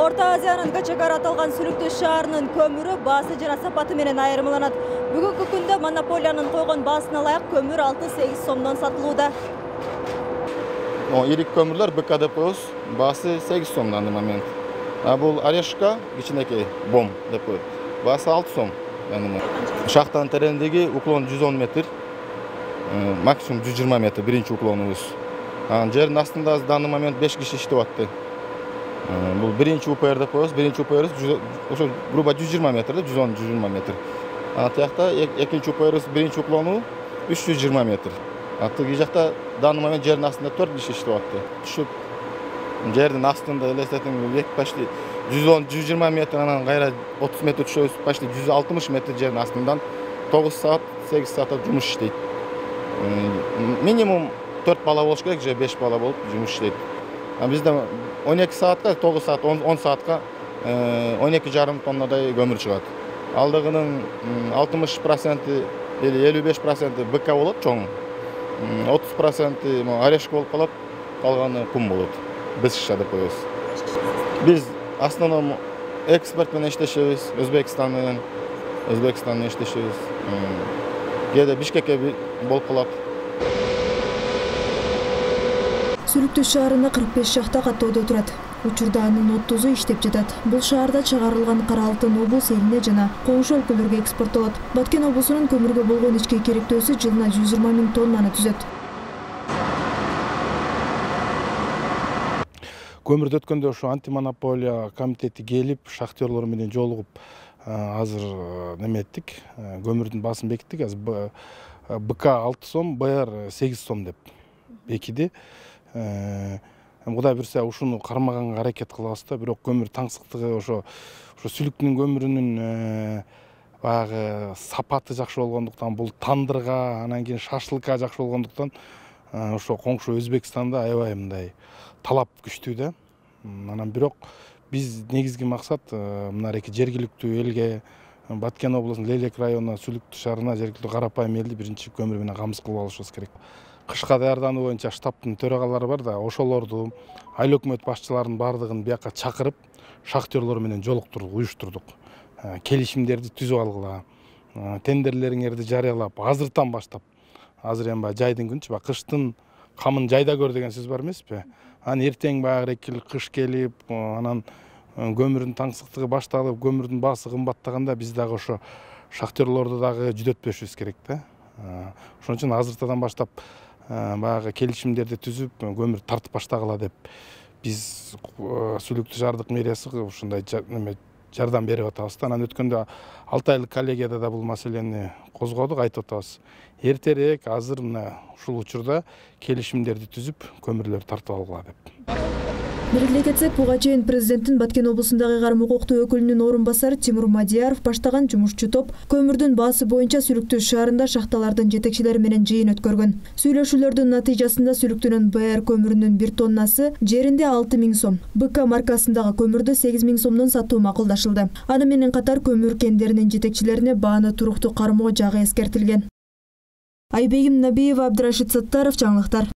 Орто Азиянын Качагар аталган Сүлүктүү шаарынын көмүрү баасы жана сапаты менен айырмаланат. Бүгүнкү күндө монополиянын койгон баасына ылайык көмүр 6-8 сомдон сатылууда. Ирик көмүрлөр БК деп коебуз, баасы 8 сом на данный момент. А бул Орешка кичинекей бом деп коет. Баасы 6 сом. Шахтанын тереңдиги уклон 110 метр, максимум 120 метр биринчи уклонубуз. Жердин астында данный момент 5 киши иштеп атты. Бул биринчи УПР деп коебуз. Биринчи УПР ошо грубо 120 метр, 110-120 метр. Тиякта экинчи УПР биринчи уклону 320 метр. Тиги жакта данный момент жердин астында 4 киши иштеп атты. Түшүп жердин астында элестетиң почти 110-120 метр, анан кайра 30 метр түшөбүз, почти 160 метр жердин астынан 9 саат, 8 саатта жумуш иштейт. Минимум 4 бала болуш керек, же 5 бала болуп жумуш иштейт. Бизде 12 саатка, 9 саат, 10 саатка 12,5 тоннадай көмүр чыгат. Алдыгынын 60% или 55% БК болот, чоң. 30% Орешка болуп калат, калганы кум болот. Бесша деп коебуз. Биз основном экспорт менен иштешебиз, Өзбекстан менен иштешебиз. Кээде Бишкекке болуп калат. Сүлүктүү шаарында 45 шахта каттоодо турат. Учурда анын 30-у иштеп жатат. Бул шаарда чыгарылган кара алтын облус элине жана коңшу өлкөлөргө экспорттолот. Баткен облусунун көмүргө болгон ички керектөөсү жылына 120 000 тоннаны түзөт. Көмүрдө өткөндө ошо антимонополия комитети келип, шахтерлор менен жолугуп, азыр неметтик, көмүрдүн баасын бекиттик. Азыр БК 6 сом, БР 8 сом деп бекиди. Кудай буюрса ушуну кармаганга аракет кылабыз да, бирок көмүр таңсыктыгы ошо сүлүктүн көмүрүнүн баягы сапаты жакшы болгондуктан, бул тандырга, анан кийин шашлыкка жакшы болгондуктан ошо коңшу Өзбекстанда аябай мындай талап күчтүү да. Анан бирок биз негизги максат мынарки жергиликтүү элге, Баткен облусунун Лелек районуна, Сүлүктүү шаарына жергиликтүү карапайым элди биринчи көмүр менен камсыз кылып алышыбыз керек. Кышка даярдануу боюнча штабтын төрагалары бар да, ошолорду, айыл өкмөт башчыларынын баардыгын бияка чакырып, шахтерлор менен жолуктурдук, уюштурдук. Келишимдерди түзүп алгыла, тендерлериңерди жарыялап, азыртан баштап. Азыр эми жайдын күнчү, кыштын камын жайда көр деген сөз бар эмеспи? Анан эртең баягы кыш келип, анан көмүрдүн таңсыктыгы башталып, көмүрдүн баасы кымбаттаганда биз дагы ошо шахтерлорду дагы жүдөтпөшүбүз керек да. Ошон үчүн азыртадан баштап баягы келишимдерди түзүп, көмүр тартып баштагыла деп биз Сүлүктүү шаардык мэриясы ушундай жардам берип атабыз. Анан өткөндө 6 айлык коллегияда да бул маселени козгодук, айтып атабыз. Эртерээк азыр мына ушул учурда келишимдерди түзүп, көмүрлөрдү тартып алгыла деп. Белгилей кетсек, буга чейин президенттин Баткен облусундагы карым укуктуу өкүлүнүн орун басары Тимур Мадияров баштаган жумушчу топ көмүрдүн баасы боюнча Сүлүктүү шаарында шахталардын жетекчилери менен жыйын өткөргөн. Сүйлөшүүлөрдүн натыйжасында Сүлүктүүнүн БР көмүрүнүн 1 тоннасы жеринде 6 000 сом, БК маркасындагы көмүрдү 8 000 сомдон сатуу макулдашылды. Аны менен катар көмүр кендеринин жетекчилерине бааны туруктуу кармоо жагы эскертилген. Айбегим Набиева, Абдрашид Саттаров, жаңылыктар.